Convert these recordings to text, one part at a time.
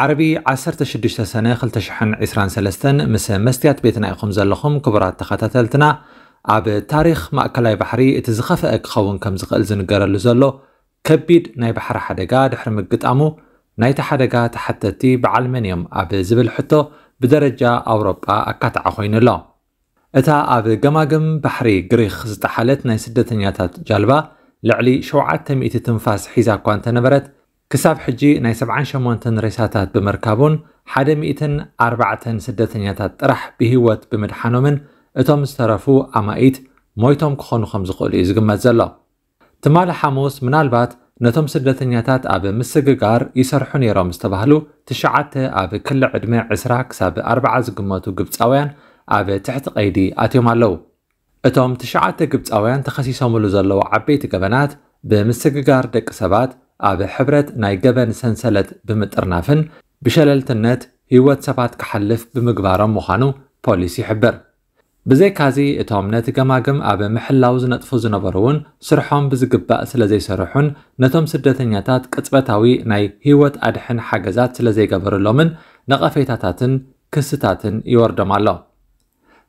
ዓርቢ ዓሰርተ ሽዱሽተ ሰነ ክልተ ሽሕን ዕስራን ሰለስተን ምስ መስትያት ቤትና ኢኹም ዘለኹም ክቡራት ተኸታተልትና። ኣብ ታሪኽ ማእከላይ ባሕሪ እቲ ዝኸፍአ ክኸውን ከም ዝኽእል ዝንገረሉ ዘሎ ከቢድ ናይ ባሕሪ ሓደጋ ድሕሪ ምግጣሙ፣ ናይቲ ሓደጋ ተሓተቲ በዓል መን እዮም ኣብ ዝብል ሕቶ ብደረጃ ኣውሮጳ ኣካታዒ ኮይኑ ኣሎ። እታ ኣብ ገማግም ባሕሪ ግሪኽ ዝጠሓለት ናይ ስደተኛታት ጃልባ ልዕሊ ሸውዓተ ሚእቲ ትንፋስ ሒዛ እኳ እንተነበረት፣ ክሳብ ሕጂ ናይ ሰብዓን ሸሞንተን ሬሳታት ብምርካቡን ሓደ ሚእትን ኣርባዕተን ስደተኛታት ጥራሕ ብህይወት ብምድሓኖምን እቶም ዝተረፉ ኣማኢት ሞይቶም ክኾኑ ከም ዝኽእሉ እዩ ዝግመት ዘሎ። ትማሊ ሓሙስ ምናልባት ነቶም ስደተኛታት ኣብ ምስግጋር ይሰርሑ ነይሮም ዝተባህሉ ትሽዓተ ኣብ ክሊ ዕድመ ዕስራ ክሳብ ኣርብዓ ዝግመቱ ግብጻውያን ኣብ ትሕቲ ቀይዲ ኣትዮም ኣለዉ። እቶም ትሽዓተ ግብጻውያን ተኸሲሶምሉ ዘለዉ ዓበይቲ ገበናት ብምስግጋር ደቂ ሰባት፣ ኣብ ሕብረት ናይ ገበን ሰንሰለት ብምጥርናፍን ብሸለልትነት ህይወት ሰባት ክሓልፍ ብምግባሮም ምዃኑ ፖሊስ ይሕብር። ብዘይካዚ እቶም ነቲ ገማግም ኣብ ምሕላው ዝነጥፉ ዝነበሩ እውን ስርሖም ብዝግባእ ስለ ዘይሰርሑን ነቶም ስደተኛታት ቅጽበታዊ ናይ ህይወት ኣድሕን ሓገዛት ስለ ዘይገበሩሎምን ነቐፌታታትን ክስታትን ይወርዶም ኣሎ።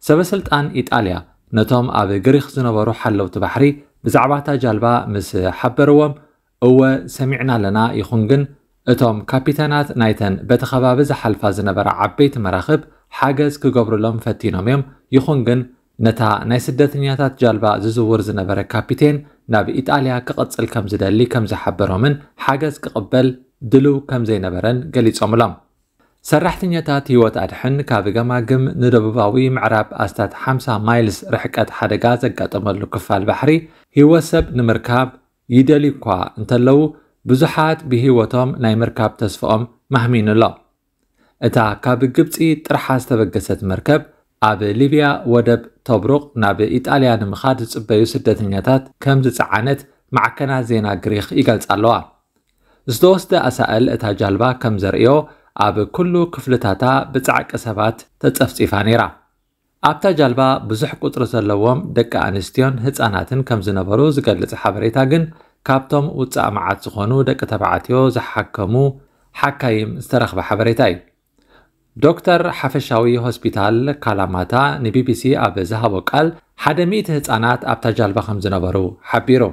ሰበስልጣን ኢጣልያ ነቶም ኣብ ግሪኽ ዝነበሩ ሓለውቲ ባሕሪ ብዛዕባ እታ ጃልባ ምስ ሓበርዎም፣ እወ ሰሚዕና ኣለና፣ ይኹን ግን እቶም ካፒተናት ናይተን በቲ ከባቢ ዝሓልፋ ዝነበራ ዓበይቲ መራኽብ ሓገዝ ክገብሩሎም ፈቲኖም እዮም፣ ይኹን ግን ነታ ናይ ስደተኛታት ጃልባ ዝዝውር ዝነበረ ካፒቴን ናብ ኢጣልያ ክቕጽል ከም ዝደሊ ከም ዝሓበሮምን ሓገዝ ክቕበል ድልው ከም ዘይነበረን ገሊጾምሎም። ሰራሕተኛታት ህይወት ኣድሕን ካብ ገማግም ንደቡባዊ ምዕራብ ኣስታት ሓምሳ ማይልስ ርሕቀት ሓደጋ ዘጋጠመሉ ክፋል ባሕሪ ህይወት ሰብ ንምርካብ ይደልዩ እኳ እንተለዉ፣ ብዙሓት ብህይወቶም ናይ ምርካብ ተስፍኦም ማህሚኑ ኣሎ። እታ ካብ ግብጺ ጥርሓ ዝተበገሰት መርከብ ኣብ ሊብያ ወደብ ቶብሩቕ ናብ ኢጣልያ ንምኻድ ዝጽበዩ ስደተኛታት ከም ዝጸዓነት ማዕከናት ዜና ግሪኽ ይገልጻ ኣለዋ። ዝተወስደ ኣሳእል እታ ጃልባ ከም ዘርእዮ፣ ኣብ ኩሉ ክፍልታታ ብጻዕቂ ሰባት ተጸፍጺፋ ነይራ። ኣብታ ጃልባ ብዙሕ ቁጽሪ ዘለዎም ደቂ ኣንስትዮን ህጻናትን ከም ዝነበሩ ዝገልጽ ሓበሬታ ግን፣ ካብቶም ውጻእ መዓት ዝኾኑ ደቂ ተባዕትዮ ዝሓከሙ ሓካይም ዝተረኽበ ሓበሬታ እዩ። ዶክተር ሓፈሻዊ ሆስፒታል ካላማታ ንቢቢሲ ኣብ ዝሃቦ ቃል፣ ሓደ ሚእቲ ህጻናት ኣብታ ጃልባ ከም ዝነበሩ ሓቢሩ።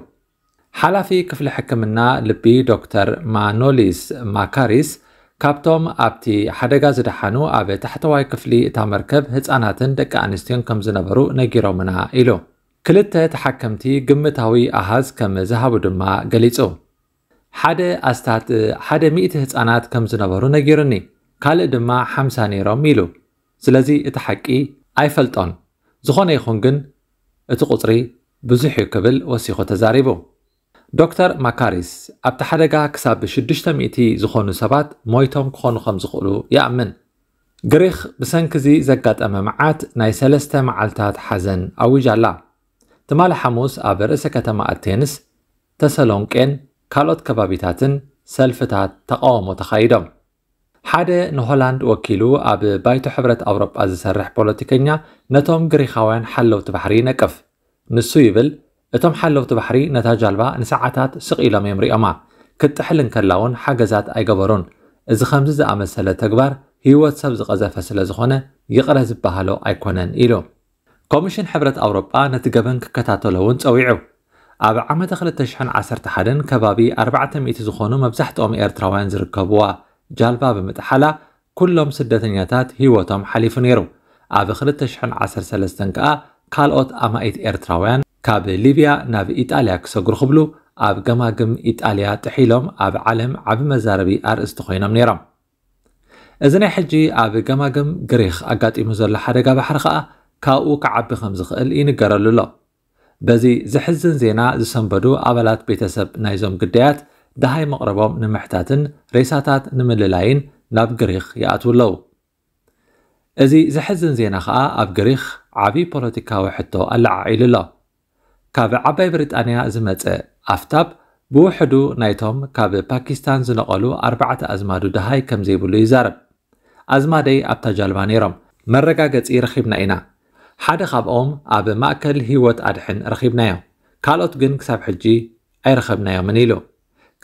ሓላፊ ክፍሊ ሕክምና ልቢ ዶክተር ማኖሊስ ማካሪስ፣ ካብቶም ኣብቲ ሓደጋ ዝደሓኑ ኣብ ታሕተዋይ ክፍሊ እታ መርከብ ህጻናትን ደቂ ኣንስትዮን ከም ዝነበሩ ነጊሮምና ኢሉ። ክልተ ተሓከምቲ ግምታዊ ኣሃዝ ከም ዝሃቡ ድማ ገሊጹ። ሓደ ኣስታት ሓደ ሚእቲ ህጻናት ከም ዝነበሩ ነጊሩኒ፣ ካልእ ድማ ሓምሳ ነይሮም ኢሉ። ስለዚ እቲ ሓቂ ኣይፈልጦን። ዝኾነ ይኹን ግን እቲ ቁጽሪ ብዙሕ እዩ ክብል ወሲኹ ተዛሪቡ። ዶክተር ማካሪስ፣ ኣብቲ ሓደጋ ክሳብ ሽዱሽተ ሚእቲ ዝኾኑ ሰባት ሞይቶም ክኾኑ ከም ዝኽእሉ ይኣምን። ግሪኽ ብሰንኪ እዚ ዘጋጠመ መዓት ናይ ሰለስተ መዓልታት ሓዘን ኣዊጃ ኣላ። ትማሊ ሓሙስ ኣብ ርእሰ ከተማ ኣቴንስ፣ ተሰሎንቄን ካልኦት ከባቢታትን ሰልፍታት ተቓውሞ ተኻይዶም። ሓደ ንሆላንድ ወኪሉ ኣብ ባይቶ ሕብረት ኣውሮጳ ዝሰርሕ ፖለቲከኛ ነቶም ግሪኻውያን ሓለውቲ ባሕሪ ይነቅፍ። ንሱ ይብል፣ እቶም ሓለውቲ ባሕሪ ነታ ጃልባ ንሰዓታት ስቕ ኢሎም እዮም ሪኦማ። ክትጥሕል እንከላ እውን ሓገዛት ኣይገበሩን። እዚ ከምዚ ዝኣመሰለ ተግባር ህይወት ሰብ ዝቐዘፈ ስለ ዝኾነ ይቕረ ዝበሃሎ ኣይኮነን ኢሉ። ኮሚሽን ሕብረት ኣውሮጳ ነቲ ገበን ክከታተሎ እውን ጸዊዑ። ኣብ ዓመተ ክልተ ሽሕን ዓሰርተ ሓደን ከባቢ ኣርባዕተ ሚእቲ ዝኾኑ መብዛሕትኦም ኤርትራውያን ዝርከብዋ ጃልባ ብምጥሓላ ኩሎም ስደተኛታት ህይወቶም ሓሊፉ ነይሩ። ኣብ ክልተ ሽሕን ዓሰርተ ሰለስተን ከኣ ካልኦት ኣማኢት ኤርትራውያን ካብ ሊብያ ናብ ኢጣልያ ክሰግሩ ክብሉ ኣብ ገማግም ኢጣልያ ጥሒሎም ኣብ ዓለም ዓቢ መዛረቢ ኣርእስቲ ኮይኖም ነይሮም። እዚ ናይ ሕጂ ኣብ ገማግም ግሪኽ ኣጋጢሙ ዘሎ ሓደጋ ባሕሪ ከኣ ካብኡ ክዓቢ ከም ዝኽእል ይንገረሉ ኣሎ። በዚ ዘሕዝን ዜና ዝሰንበዱ ኣባላት ቤተሰብ ናይዞም ግዳያት ደሃይ መቕረቦም ንምሕታትን ሬሳታት ንምልላይን ናብ ግሪኽ ይኣትዉ ኣለዉ። እዚ ዘሕዝን ዜና ከኣ ኣብ ግሪኽ ዓቢ ፖለቲካዊ ሕቶ ኣለዓዒሉ ኣሎ። ካብ ዓባይ ብሪጣንያ ዝመጸ ኣፍታብ ብውሕዱ ናይቶም ካብ ፓኪስታን ዝነቐሉ ኣርባዕተ ኣዝማዱ ደሃይ ከም ዘይብሉ ይዛረብ። ኣዝማደይ ኣብታ ጃልባ ነይሮም፣ መረጋገጺ ረኺብና ኢና። ሓደ ካብኦም ኣብ ማእከል ህይወት ኣድሕን ረኺብናዮ፣ ካልኦት ግን ክሳብ ሕጂ ኣይረኸብናዮምን ኢሉ።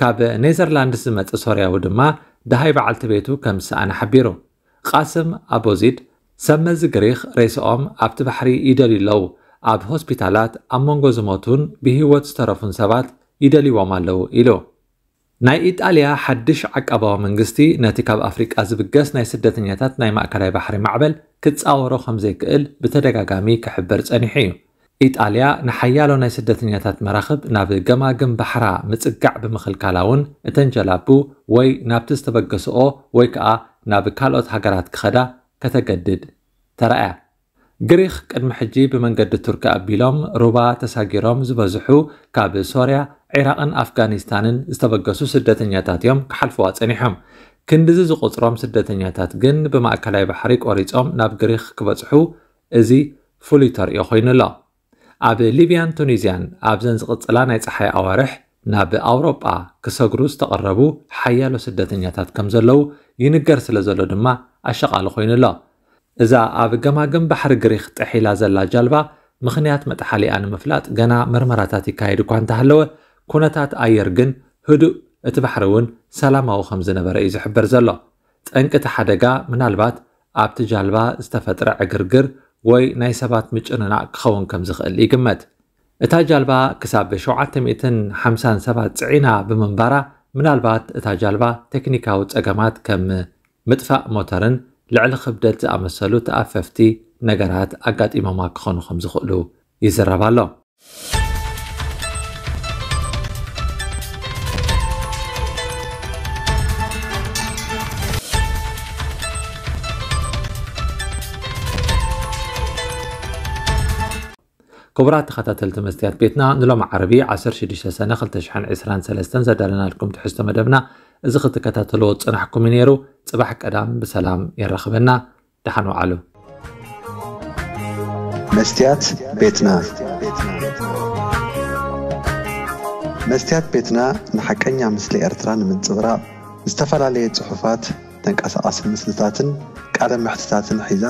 ካብ ኔዘርላንድስ ዝመጸ ሶርያዊ ድማ ደሃይ በዓልቲ ቤቱ ከም ዝሰኣነ ሓቢሩ። ቃስም ኣቦዚድ፣ ሰብ መዚ ግሪኽ ሬስኦም ኣብቲ ባሕሪ ይደልዩ ኣለዉ፣ ኣብ ሆስፒታላት ኣብ መንጎ ዝሞቱን ብህይወት ዝተረፉን ሰባት ይደልይዎም ኣለዉ ኢሉ። ናይ ኢጣልያ ሓድሽ ዓቃባዊ መንግስቲ ነቲ ካብ ኣፍሪቃ ዝብገስ ናይ ስደተኛታት ናይ ማእከላይ ባሕሪ ማዕበል ክጻወሮ ከም ዘይክእል ብተደጋጋሚ ክሕብር ጸኒሑ እዩ። ኢጣልያ ንሓያሎ ናይ ስደተኛታት መራኽብ ናብ ገማግም ባሕራ ምጽጋዕ ብምኽልካላ እውን እተን ጀላቡ ወይ ናብቲ ዝተበገስኦ ወይ ከኣ ናብ ካልኦት ሃገራት ክኸዳ ከተገድድ ተራእያ። ግሪኽ ቅድሚ ሕጂ ብመንገዲ ቱርኪ ኣቢሎም ሩባ ተሳጊሮም ዝበዝሑ ካብ ሶርያ፣ ዒራቕን ኣፍጋኒስታንን ዝተበገሱ ስደተኛታት እዮም ክሓልፍዋ ጸኒሖም። ክንድዚ ዝቑጽሮም ስደተኛታት ግን ብማእከላይ ባሕሪ ቆሪጾም ናብ ግሪኽ ክበጽሑ እዚ ፍሉይ ተርእዮ ኮይኑ ኣሎ። ኣብ ሊብያን ቱኒዝያን ኣብዘን ዝቕጽላ ናይ ጸሓይ ኣዋርሕ ናብ ኣውሮጳ ክሰግሩ ዝተቐረቡ ሓያሎ ስደተኛታት ከም ዘለዉ ይንገር ስለ ዘሎ ድማ ኣሸቓሊ ኮይኑ ኣሎ። እዛ ኣብ ገማግም ባሕሪ ግሪኽ ጥሒላ ዘላ ጃልባ ምኽንያት መጥሓሊኣ ንምፍላጥ ገና መርመራታት ይካየድ እኳ እንተሃለወ፣ ኩነታት ኣየር ግን ህዱእ፣ እቲ ባሕሪ እውን ሰላማዊ ከም ዝነበረ እዩ ዝሕበር ዘሎ። ጠንቂ እቲ ሓደጋ ምናልባት ኣብቲ ጃልባ ዝተፈጥረ ዕግርግር ወይ ናይ ሰባት ምጭንናቕ ክኸውን ከም ዝኽእል ይግመት። እታ ጃልባ ክሳብ ሸውዓተ ሚእትን ሓምሳን ሰባት ጽዒና ብምንባራ፣ ምናልባት እታ ጃልባ ቴክኒካዊ ጸገማት ከም ምጥፋእ ሞተርን ልዕሊ ክብደት ዝኣመሰሉ ተኣፈፍቲ ነገራት ኣጋጢሞማ ክኾኑ ከም ዝኽእሉ ይዝረብ ኣሎ። ክቡራት ተኸታተልቲ መስትያት ቤትና፣ ንሎሚ ዓርቢ ዓሰርተ ሽዱሽተ ሰነ ክልተ ሽሕን ዕስራን ሰለስተን ዘዳለናልኩም ትሕዝቶ መደብና እዚ ክትከታተልዎ ዝጸናሕኩም እዩ ነይሩ። ጽባሕ ቀዳም ብሰላም የራኽበና። ደሓን ወዓሉ። መስትያት ቤትና። መስትያት ቤትና ንሓቀኛ ምስሊ ኤርትራ ንምንጽብራቕ ዝተፈላለየ ጽሑፋት፣ ተንቀሳቓሲ ምስልታትን ቃለ መሕትታትን ሒዛ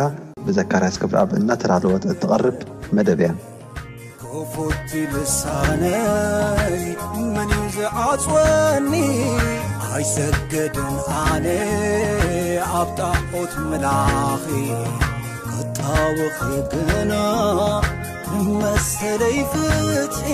ብዘካርያስ ክብረኣብ እናተዳለወት እትቐርብ መደብ እያ። ክፉት ልሳነይ መን እዩ ዝዓጽወኒ? ኣይሰግድን ኣነ ኣብ ጣዖት ምላኺ፣ ክጣወኺ ግና መሰለይ ፍትሒ።